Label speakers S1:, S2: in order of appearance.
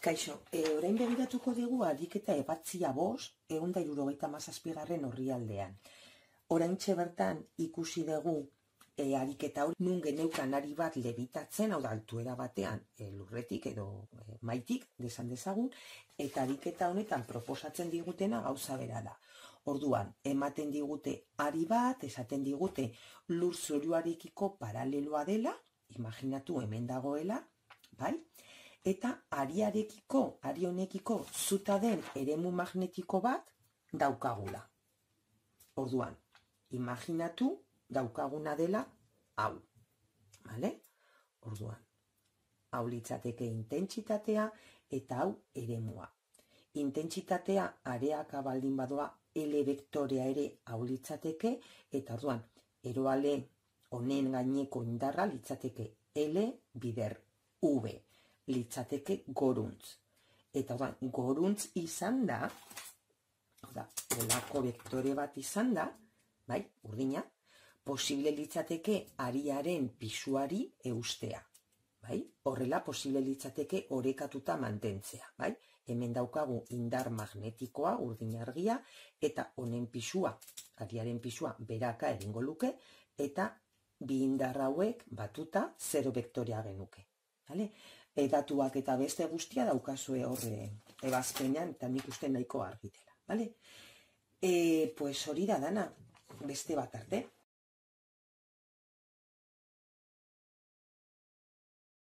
S1: Kaixo, orain begiratuko dugu ariketa ebatzia 5, 177. Oraintxe bertan ikusi dugu ariketa hori nun geneukan ari bat lebitatzen, hau da, altuera batean lurretik edo maitik, desan dezagun, eta ariketa honetan proposatzen digutena gauza bera da. Orduan, ematen digute ari bat, esaten digute lur zoruarekiko paraleloa dela, imaginatu hemen dagoela, bai? Eta ari honekiko zuta den eremu magnetiko bat daukagula. Orduan, imaginatu daukaguna dela hau. Bale? Orduan, hau litzateke intentsitatea eta hau eremua. Intentsitatea areaka baldin badoa L vektorea ere hau litzateke, eta orduan, eroale honen gaineko indarra litzateke L bider V. Litzateke goruntz. Eta goruntz izan da, olako vektore bat izan da, bai, urdina, posible litzateke ariaren pisuari eustea. Bai? Horrela posible litzateke orekatuta mantentzea. Bai? Hemen daukagu indar magnetikoa, urdin argia, eta honen pisua, ariaren pisua beraka egingo luke, eta bi indar hauek batuta 0 vektorea genuke. Bale? Datuak eta beste guztia daukazue horre ebazpenean, eta nik uste nahiko argitela. Pues hori da dana, beste bat arte.